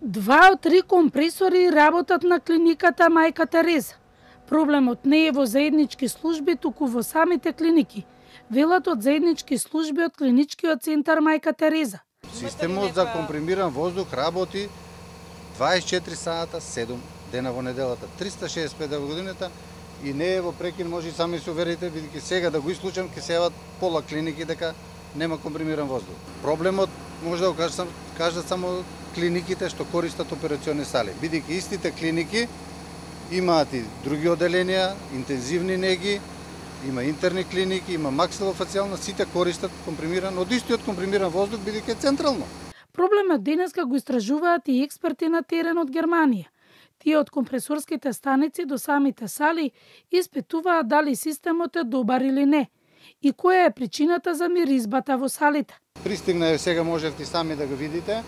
2 од 3 компресори работат на клиниката Мајка Тереза. Проблемот не е во заеднички служби, туку во самите клиники, велат од заеднички служби од клиничкиот центар Мајка Тереза. Системот за компримиран воздух работи 24 сата, 7 дена во неделата, 365 дена во годината и не е во прекин, може и сами се уверите, бидејќи сега да го исклучам, ќе се јават пола клиники дека нема компримиран воздух. Проблемот може да го кажат само клиниките што користат операциони сали, бидејќи истите клиники имаат и други оделенија, интензивни неги, има интерни клиники, има максилофацијална, сите користат компримиран, од истиот компримиран воздух, бидејќи е централно. Проблемот денеска го истражуваат и експерти на терен од Германија. Тие од компресорските станици до самите сали испитуваат дали системот е добар или не и која е причината за миризбата во салите. Пристигна е, сега можевте сами да го видите,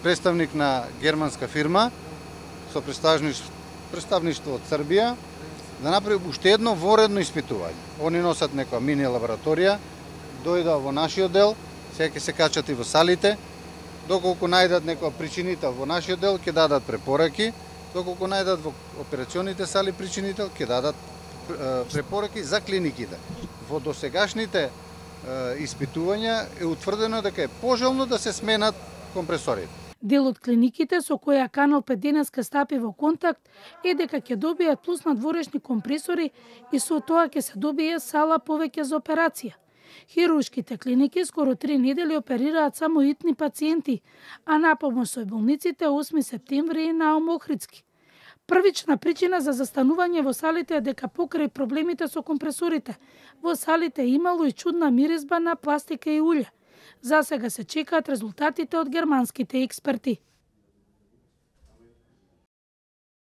представник на германска фирма со представништво од Србија да направи уште едно воредно испитување. Они носат некоја мини лабораторија, дојда во нашиот дел, сега ќе се качат и во салите, доколку најдат некоја причинител во нашиот дел, ќе дадат препораки, доколку најдат во операционите сали причинител, ќе дадат препораки за клиниките. Во досегашните испитувања е утврдено дека е пожелно да се сменат компресорите. Дел од клиниките со која Канал 5 денеска стапи во контакт е дека ќе добијат плюс надворешни компресори и со тоа ќе се добие сала повеќе за операција. Хируршките клиники скоро 3 недели оперираат само итни пациенти, а на помош со болниците 8 септември и Наум Охридски. Првична причина за застанување во салите е дека покрај проблемите со компресорите, во салите имало и чудна миризба на пластика и улје. За сега се чекаат резултатите од германските експерти.